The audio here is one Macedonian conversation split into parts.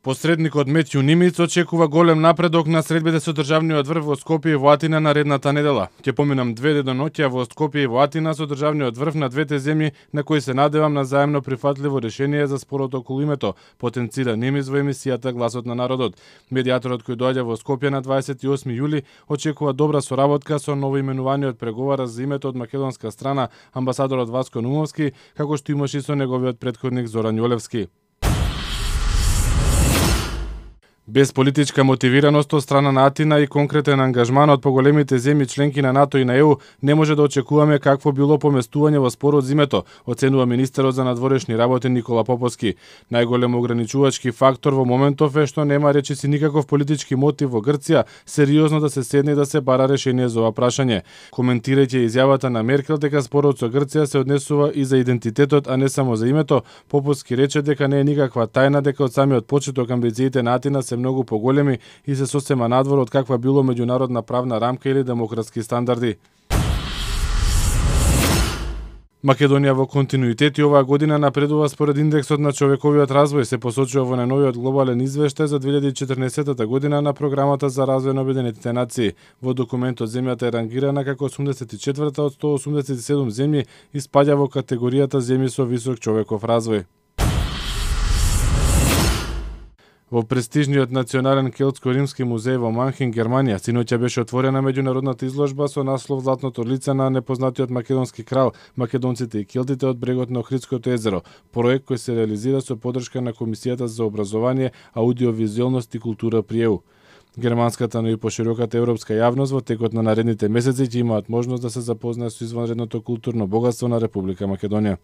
Посредникот Метју Нимиц очекува голем напредок на средбите со државниот врв во Скопје и во Атина наредната недела. Ќе поминам 2 деноноќја во Скопје и во Атина со државниот врв на двете земји, на кои се надевам на заемно прифатливо решение за спорот околу името, потенцира Нимиц во емисијата Гласот на народот. Медијаторот кој доаѓа во Скопје на 28 јули очекува добра соработка со новоименуваниот преговарач за името од македонска страна, амбасадорот Васко Нумовски, како што имаше и со неговиот претходник Зоран Јолевски. Без политичка мотивираност од страна на Атина и конкретен ангажман од поголемите земји членки на НАТО и на ЕУ, не може да очекуваме какво било поместување во спорот за името, оценува министерот за надворешни работи Никола Поповски. Најголем ограничувачки фактор во моментов е што нема речиси никаков политички мотив во Грција сериозно да се седне и да се бара решение за ова прашање. Коментирајќи изјавата на Меркел дека спорот со Грција се однесува и за идентитетот, а не само за името, Поповски рече дека не е никаква тајна дека од самиот почеток амбициите на Атина се многу поголеми и се сосема надвор од каква било меѓународна правна рамка или демократски стандарди. Македонија во континуитет и оваа година напредува според индексот на човековиот развој, се посочува во најновиот глобален извештај за 2014 година на програмата за развој на Обединетите нации. Во документот земјата е рангирана како 84-та од 187 земји и спаѓа во категоријата земји со висок човеков развој. Во престижниот национален келтско-римски музеј во Манхен, Германија, синоќа беше отворена меѓународната изложба со наслов Златното лице на непознатиот македонски крал, македонците и келтите од брегот на Охридското езеро, проект кој се реализира со поддршка на Комисијата за образование, аудиовизуелност и култура при ЕУ. Германската, но и пошироката европска јавност во текот на наредните месеци ќе имаат можност да се запознаат со извонредното културно богатство на Република Македонија.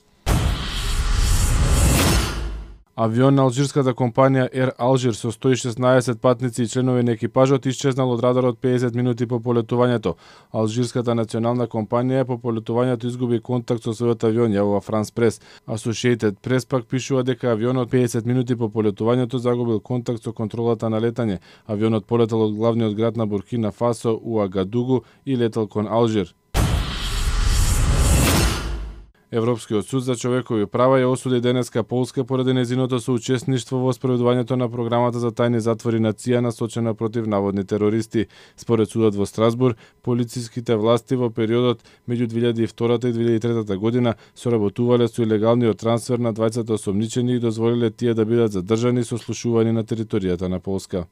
Авион на алжирската компанија Air Algir со 116 патници и членови на екипажот исчезнал од радарот 50 минути по полетувањето. Алжирската национална компанија по полетувањето изгуби контакт со својот авион, јавува France Press. Associated Press пак пишува дека авионот 50 минути по полетувањето загубил контакт со контролата на летање. Авионот полетал од главниот град на Буркина Фасо, Уагадугу, и летал кон Алжир. Европскиот суд за човекови права ја осуди денеска Полска поради нејзиното соучесништво во спроведувањето на програмата за тајни затвори на ЦИА насочена против наводни терористи. Според судот во Страсбург, полициските власти во периодот меѓу 2002 и 2003 година соработувале со илегалниот трансфер на двајцата осомничени и дозволиле тие да бидат задржани и сослушувани на територијата на Полска.